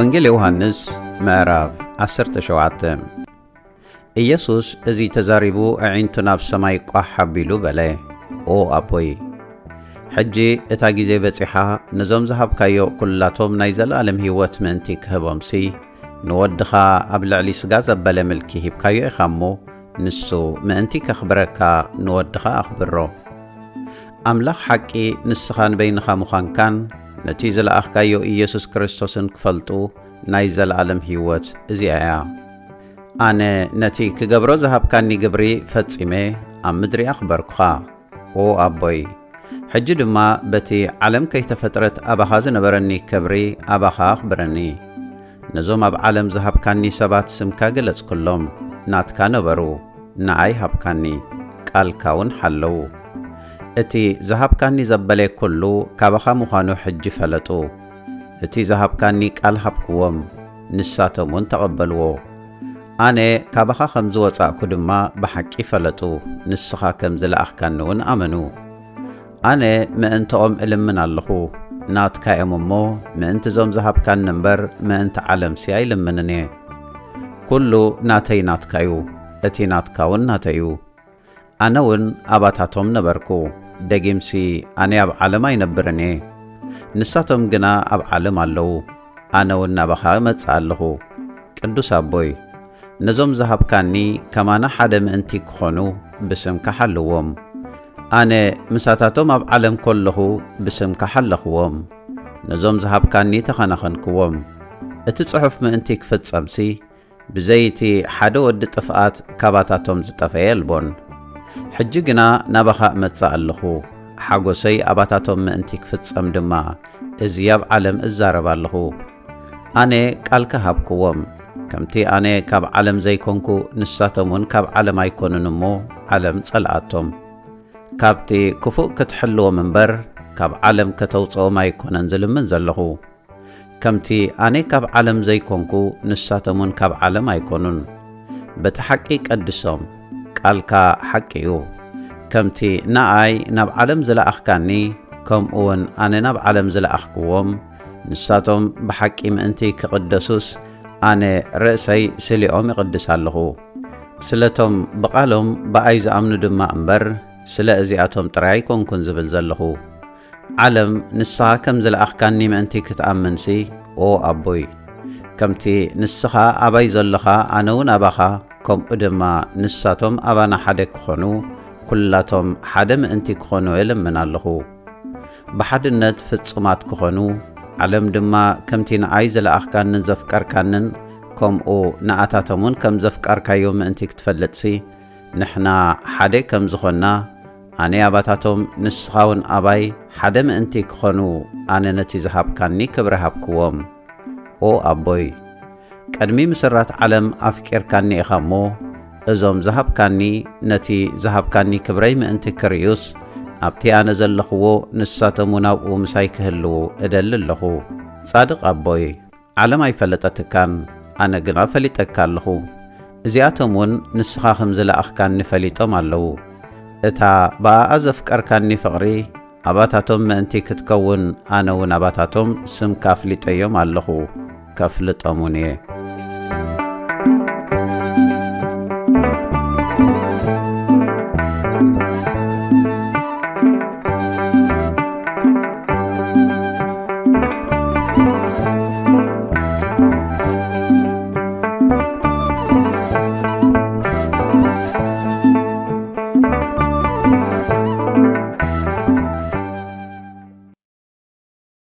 ወንጌል ዮሃንስ ምዕራፍ ዓሰርተ ሸውዓተ። ኢየሱስ እዚ ተዛሪቡ፣ ኣዒንቱ ናብ ሰማይ ቋሕ ኣቢሉ በለ፣ "ኦ ኣቦይ፣ ሕጂ እታ ግዜ በጺሓ፣ ነዞም ዝሃብካዮ ኲላቶም ናይ ዘለኣለም ህይወት ምእንቲ ክህቦምሲ፣ ንወድኻ ኣብ ልዕሊ ስጋ ዘበለ ምልኪ ሂብካዮ ኢኻ እሞ፣ ንሱ ምእንቲ ከኽብረካ ንወድኻ ኣኽብሮ። ኣምላኽ ሓቂ ንስኻን በይንኻ ምዃንካን፣ ነቲ ዝለኣኽካዮ ኢየሱስ ክርስቶስን ክፈልጡ ናይ ዘለኣለም ህይወት እዚኣ እያ። ኣነ ነቲ ክገብሮ ዝሃብካኒ ግብሪ ፈጺመ ኣብ ምድሪ ኣኽበርኩኻ። ኦ ኣቦይ፣ ሕጂ ድማ በቲ ዓለም ከይተፈጥረት ኣባኻ ዝነበረኒ ክብሪ ኣባኻ ኣኽብረኒ። ነዞም ኣብ ዓለም ዝሃብካኒ ሰባት ስምካ ገለጽኩሎም፣ ናትካ ነበሩ፣ ንኣይ ሃብካኒ፣ ቃልካ እውን ሓለዉ። እቲ ዝሃብካኒ ዘበለ ኩሉ ካባኻ ምዃኑ ሕጂ ፈለጡ። እቲ ዝሃብካኒ ቃል ሃብክዎም፣ ንሳቶም እውን ተቐበልዎ። ኣነ ካባኻ ከም ዝወጻእኩ ድማ ብሓቂ ፈለጡ፣ ንስኻ ከም ዝለኣኽካኒ እውን ኣመኑ። ኣነ ምእንትኦም እልምን ኣለኹ፣ ናትካ እዮም እሞ፣ ምእንቲ እዞም ዝሃብካኒ እምበር፣ ምእንቲ ዓለምሲ ኣይልምንን እየ። ኩሉ ናተይ ናትካ እዩ፣ እቲ ናትካ እውን ናተይ እዩ። ኣነ እውን ኣባታቶም ነበርኩ፣ ደጊምሲ ኣነ ኣብ ዓለም ኣይነብርን እየ፣ ንሳቶም ግና ኣብ ዓለም ኣለዉ፣ ኣነ እውን ናባኻ እመጽእ ኣለኹ። ቅዱስ ኣቦይ፣ ነዞም ዝሃብካኒ ከማና ሓደ ምእንቲ ክኾኑ ብስምካ ሓልዎም። ኣነ ምሳታቶም ኣብ ዓለም ከለኹ ብስምካ ሓለኽዎም፣ ነዞም ዝሃብካኒ ተኸናኸንክዎም። እቲ ጽሑፍ ምእንቲ ክፍጸምሲ፣ ብዘይቲ ሓደ ወዲ ጥፍኣት ካባታቶም ዝጠፈ የልቦን። ሕጂ ግና ናባኻ እመጽእ ኣለኹ፣ ሓጎሰይ ኣባታቶም ምእንቲ ክፍጸም ድማ፣ እዚ ኣብ ዓለም እዛረብ ኣለኹ። ኣነ ቃልካ ሃብክዎም፣ ከምቲ ኣነ ካብ ዓለም ዘይኮንኩ፣ ንሳቶም እውን ካብ ዓለም ኣይኮኑን እሞ፣ ዓለም ጸልኣቶም። ካብቲ ክፉእ ክትሕልዎም እምበር፣ ካብ ዓለም ከተውጽኦም ኣይኮነን ዝልምን ዘለኹ። ከምቲ ኣነ ካብ ዓለም ዘይኮንኩ፣ ንሳቶም እውን ካብ ዓለም ኣይኮኑን። በቲ ሓቂ ቀድሶም፣ ቃልካ ሓቂ እዩ። ከምቲ ንኣይ ናብ ዓለም ዝለኣኽካኒ፣ ከምኡ እውን ኣነ ናብ ዓለም ዝለኣኽክዎም፣ ንሳቶም ብሓቂ ምእንቲ ክቕደሱስ፣ ኣነ ርእሰይ ስሊኦም ይቕድስ ኣለኹ። ስለቶም ብቓሎም ብኣይ ዝኣምኑ ድማ እምበር፣ ስለ እዚኣቶም ጥራይ ኣይኮንኩን ዝብል ዘለኹ። ዓለም ንስኻ ከም ዝለኣኽካኒ ምእንቲ ክትኣምንሲ፣ ኦ ኣቦይ፣ ከምቲ ንስኻ ኣባይ ዘሎኻ ኣነ እውን ኣባኻ፣ ከምኡ ድማ ንሳቶም ኣባና ሓደ ክኾኑ፣ ኩላቶም ሓደ ምእንቲ ክኾኑ እልምን ኣለኹ። ብሓድነት ፍጹማት ክኾኑ፣ ዓለም ድማ ከምቲ ንኣይ ዝለኣኽካንን ዘፍቀርካንን፣ ከምኡ ንኣታቶም እውን ከም ዘፍቀርካዮ ምእንቲ ክትፈልጥሲ፣ ንሕና ሓደ ከም ዝኾንና፣ ኣነ ኣባታቶም ንስኻ እውን ኣባይ ሓደ ምእንቲ ክኾኑ፣ ኣነ ነቲ ዝሃብካኒ ክብሪ ሃብክዎም። ኦ ኣቦይ፣ ቅድሚ ምስራት ዓለም ኣፍቂርካኒ ኢኻ እሞ፣ እዞም ዝሃብካኒ፣ ነቲ ዝሃብካኒ ክብረይ ምእንቲ ክርእዩስ፣ ኣብቲ ኣነ ዘለኽዎ ንሳቶም እውን ኣብኡ ምሳይ ክህልዉ እደሊ ኣለኹ። ጻድቕ ኣቦይ፣ ዓለም ኣይፈለጠትካን፣ ኣነ ግና ፈሊጠካ ኣለኹ። እዚኣቶም እውን ንስኻ ከም ዝለኣኽካኒ ፈሊጦም ኣለዉ። እታ ብኣኣ ዘፍቀርካኒ ፍቕሪ ኣባታቶም ምእንቲ ክትከውን፣ ኣነ እውን ኣባታቶም ስምካ ኣፍሊጠዮም ኣለኹ፣ ከፍልጦም እውን እየ።